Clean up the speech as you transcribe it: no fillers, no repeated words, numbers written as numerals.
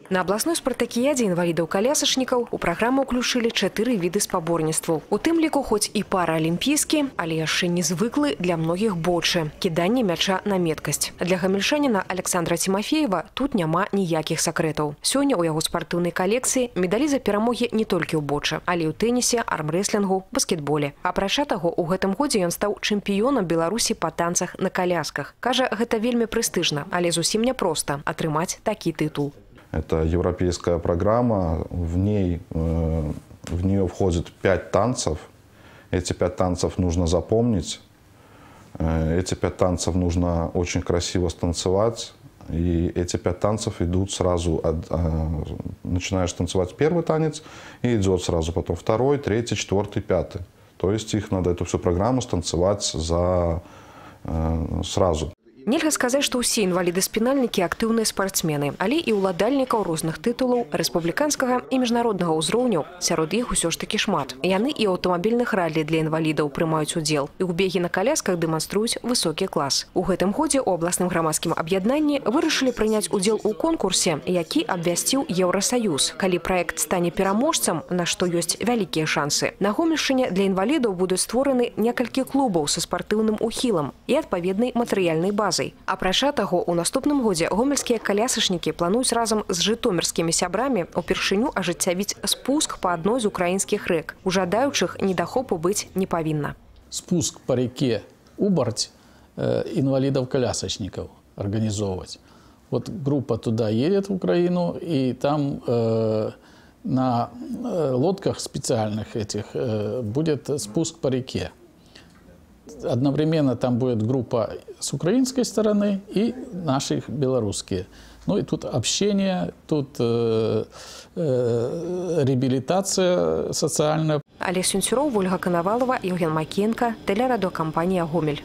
На абласной спартакіядзе інвалідаў-калясачнікаў у праграму ўключылі 4 віды спаборніцтваў. У тым ліку хоць і параалімпійскі, але яшчэ незвыклы для многіх бочы – кіданне мяча на меткасць. Для гамельчаніна Александра Тимофеева тут няма ніякіх сакрэтаў. Сёння ў яго спартыўнай калекцыі медалі за перамогі не толькі ў бочы, але і ў тэнісе, армрэслінгу, баскетболе. Апрача таго, у гэтым годзе ён стаў чэмпіёнам Беларусі па танцах на колясках. Кажа, гэта вельмі прэстыжна, але зусім няпроста атрымаць такі тытул. Это европейская программа, в нее входит 5 танцев. Эти 5 танцев нужно запомнить, эти 5 танцев нужно очень красиво станцевать. И эти 5 танцев идут сразу, начинаешь танцевать первый танец, и идет сразу потом второй, третий, четвертый, пятый. То есть их надо эту всю программу станцевать сразу. Нельга сказаць, што ўсе інваліды-спінальнікі актыўныя спартсмены, але і ўладальнікаў розных тытулаў рэспубліканскага і міжнароднага ўзроўняў. Сярод іх усё ж такі шмат. Яны і аўтамабільных раллі для інвалідаў прымаюць удзел. І ў бегі на калясках дэманструюць высокі клас. У гэтым годзе ў абласным грамадскім аб'яднанні вырашылі прыняць удзел у конкурсе, які абвясціў Еўрасаюз. Калі праект стане пераможцам, на што ёсць вялікія шансы, на Гомельшчыне для інвалідаў будуць створаны некалькі клубаў са спартыўным ухілам і адпаведнай матэрыяльнай базай. Апрача таго, у наступным годзе гомельскія калясачнікі плануюць разам з жытомірскімі сябрамі упершыню ажыццявіць спуск па адной з украінскіх рэк. У жадаючых недахопу быць не павінна. Спуск по реке Убарть инвалидов-колясочников организовывать. Вот группа туда едет в Украину, и там на лодках специальных этих будет спуск по реке. Одновременно там будет группа с украинской стороны и наших белорусские. Ну и тут общение, тут реабилитация социальная. Олег Сюнцюров, Ольга Коновалова, Евген Макенко, телерадиокомпания «Гомель».